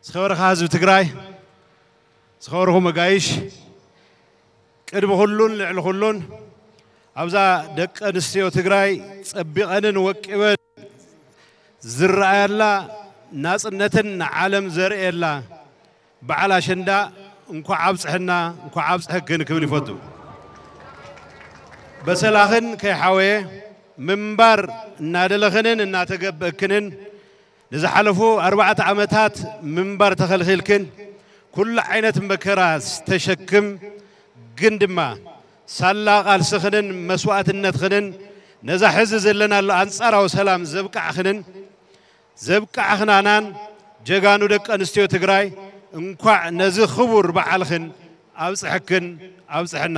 ዝኸበርካ ህዝቢ ትግራይ፣ ዝኸበርኹም መጋይሽ፣ ቅድሚ ኩሉን ልዕሊ ኩሉን ኣብዛ ደቂ ኣንስትዮ ትግራይ ጸቢቐንን ወቂበን ዝረኣያላ፣ ናጽነትን ንዓለም ዘርእየላ በዓል ኣሸንዳ እንኳዕ ኣብጽሐና፣ እንኳዕ ኣብጽሐክን ክብል ይፈቱ። በሰላኽን ከይሓወየ ምንባር እናደለኽንን እናተገበእክንን ንዝሓለፉ ኣርባዕተ ዓመታት ምንባር ተኸልኺልክን ኩሉ ዓይነት መከራ ዝተሸክም ግን ድማ ሳላ ቃልስኽንን መስዋእትነትኽንን ነዛ ሕዚ ዘለናሉ ኣንጻራዊ ሰላም ዘብቃዕኽንን ዘብቃዕኽናናን ጀጋኑ ደቂ ኣንስትዮ ትግራይ እንኳዕ ነዚ ክቡር በዓልኽን ኣብጽሐክን ኣብጽሐና።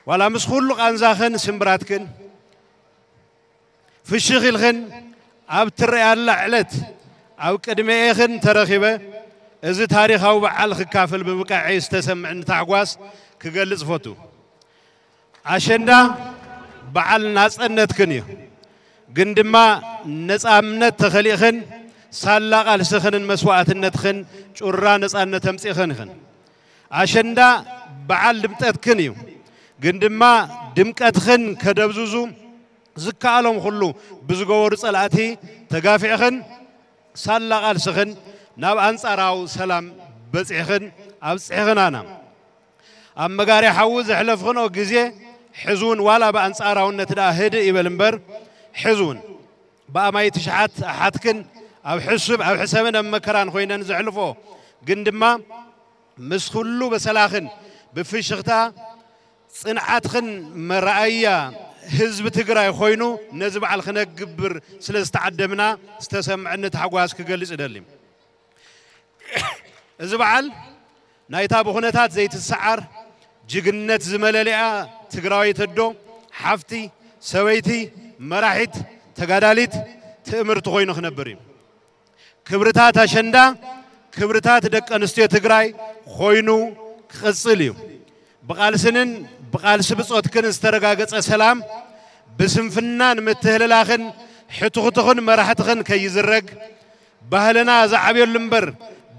ዋላ ምስ ኩሉ ቃንዛኽን ስምብራትክን ፍሽኽ ኢልኽን ኣብ ትረኣያላ ዕለት ኣብ ቅድሚኤኽን ተረኺበ እዚ ታሪኻዊ በዓል ክካፈል ብምብቃዐይ ዝተሰምዕኒ ታሕጓስ ክገልጽ እፈቱ። ኣሸንዳ በዓል ናጽነትክን እዩ። ግን ድማ ነጻነት ተኸሊእኽን ሳላ ቃልስኽንን መስዋእትነትኽን ጩራ ነጻነት ኣምጺእኽን ኢኽን። ኣሸንዳ በዓል ድምቀትክን እዩ። ግን ድማ ድምቀትኽን ከደብዝዙ ዝከኣሎም ኩሉ ብዝገበሩ ጸላእቲ ተጋፊዕኽን ሳላ ቃልስኽን ናብ ኣንጻራዊ ሰላም በጺሕኽን ኣብጺሕኽናና። ኣብ መጋርያ ሓዊ ዘሕለፍኽንኦ ግዜ ሕዚ እውን ዋላ ብኣንጻራውነት ደኣ ህድእ ይበል እምበር፣ ሕዚ እውን ብኣማይቲ ሽሓት ኣሓትክን ኣብ ሕሱብ ኣብ ሕሰምን ኣብ መከራን ኮይነን ዘሕልፎ ግን ድማ ምስ ኩሉ በሰላኽን ብፍሽኽታ ጽንዓትኽን መረኣያ ህዝቢ ትግራይ ኮይኑ ነዚ በዓል ክነግብር ስለ ዝተዓደምና ዝተሰምዐኒ ታሕጓስ ክገልጽ እደሊ። እዚ በዓል ናይታ ብኹነታት ዘይትሰዓር ጅግነት ዝመለለያ ትግራወይቲ ኣዶ፣ ሓፍቲ፣ ሰበይቲ፣ መራሒት፣ ተጋዳሊት ትእምርቲ ኮይኑ ክነብር እዩ። ክብርታት ኣሸንዳ ክብርታት ደቂ ኣንስትዮ ትግራይ ኮይኑ ክቕጽል እዩ። ብቓልስንን ብቓልሲ ብጾትክን ዝተረጋገጸ ሰላም ብስንፍናን ምትህልላኽን ሕቱኽቱኽን መራሕትኽን ከይዝረግ ባህልና ዝዓብየሉ እምበር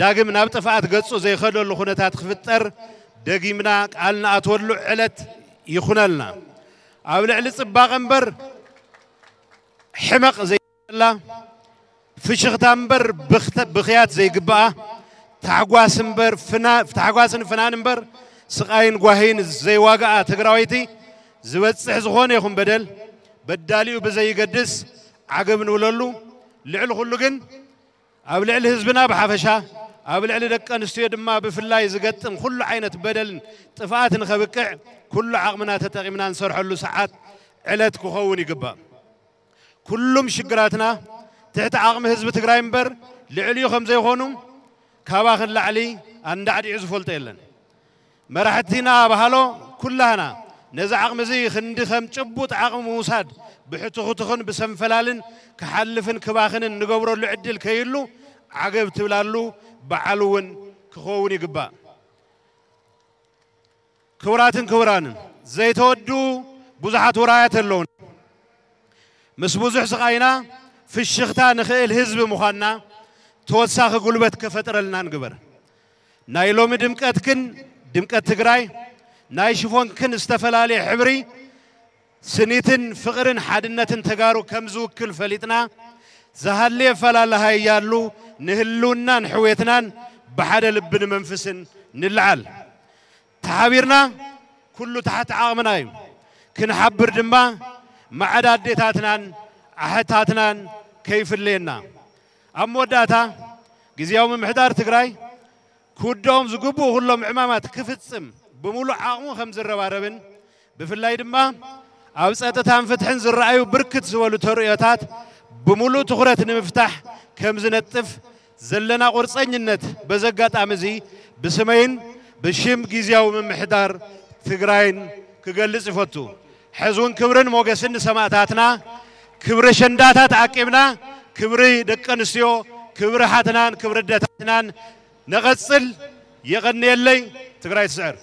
ዳግም ናብ ጥፍኣት ገጹ ዘይኸደሉ ኩነታት ክፍጠር ደጊምና ቃል ንኣትወሉ ዕለት ይኹነልና። ኣብ ልዕሊ ጽባቐ እምበር ሕመቕ ዘይብላ፣ ፍሽኽታ እምበር ብኽተ- ብኽያት ዘይግብኣ፣ ታሕጓስ እምበር ፍና- ታሕጓስን ፍናን እምበር ስቓይን ጓሂን ዘይዋግኣ ትግራወይቲ ዝበጽሕ ዝኾነ ይኹን በደል በዳሊኡ ብዘይገድስ ዓገብ ንብለሉ። ልዕሊ ኩሉ ግን ኣብ ልዕሊ ህዝብና ብሓፈሻ ኣብ ልዕሊ ደቂ ኣንስትዮ ድማ ብፍላይ ዝገጥም ኩሉ ዓይነት በደልን ጥፍኣትን ከብቅዕ ኩሉ ዓቕምና ተጠቒምና ንሰርሐሉ ሰዓት ዕለት ክኸውን ይግባእ። ኩሉም ሽግራትና ትሕቲ ዓቕሚ ህዝቢ ትግራይ እምበር ልዕሊኡ ከም ዘይኾኑ ካባኽን ላዕሊ ኣንዳዕዲዑ ዝፈልጦ የለን። መራሕቲና በሃሎ ኩላህና ነዚ ዓቕሚ እዚ ክንዲ ከም ጭቡጥ ዓቕሚ ምውሳድ ብሕቱኽቱኽን ብሰንፈላልን ክሓልፍን ክባኽንን ንገብረሉ ዕድል ከይህሉ ዓገብ ትብላሉ በዓል እውን ክኸውን ይግባእ። ክቡራትን ክቡራንን ዘይተወዱ ብዙሓት ውራያት ኣለውን። ምስ ብዙሕ ስቓይና ፍሽኽታ ንኽእል ህዝቢ ምዃንና ተወሳኺ ጉልበት ከፈጥረልና ንግበር። ናይ ሎሚ ድምቀትክን ድምቀት ትግራይ ናይ ሽፎንክን ዝተፈላለየ ሕብሪ ስኒትን ፍቕርን ሓድነትን ተጋሩ ከም ዝውክል ፈሊጥና ዝሃለየ ፈላለሃይ ያሉ ንህልውናን ሕውየትናን ብሓደ ልብን መንፍስን ንልዓል። ተሓቢርና ኩሉ ትሕቲ ዓቕምና እዩ። ክንሓብር ድማ ማዕዳ ኣዴታትናን ኣሕታትናን ከይፍለየና። ኣብ መወዳእታ ግዝያዊ ምምሕዳር ትግራይ ክውድኦም ዝግብኡ ኩሎም ዕማማት ክፍጽም ብምሉእ ዓቕሙ ከም ዝረባረብን ብፍላይ ድማ ኣብ ጸጥታን ፍትሕን ዝረኣዩ ብርክት ዝበሉ ተርእዮታት ብምሉእ ትኹረት ንምፍታሕ ከም ዝነጥፍ ዘለና ቁርጸኝነት በዚ ኣጋጣሚ እዚ ብስመይን ብሽም ግዝያዊ ምምሕዳር ትግራይን ክገልጽ ይፈቱ። ሕዚ እውን ክብርን ሞገስን ንሰማእታትና፣ ክብሪ ኣሸንዳታት ዓቂብና ክብሪ ደቂ ኣንስትዮ፣ ክብሪ ሓትናን ክብሪ ኣደታትናን ነቐጽል። የቐንየለይ። ትግራይ ትስዕር።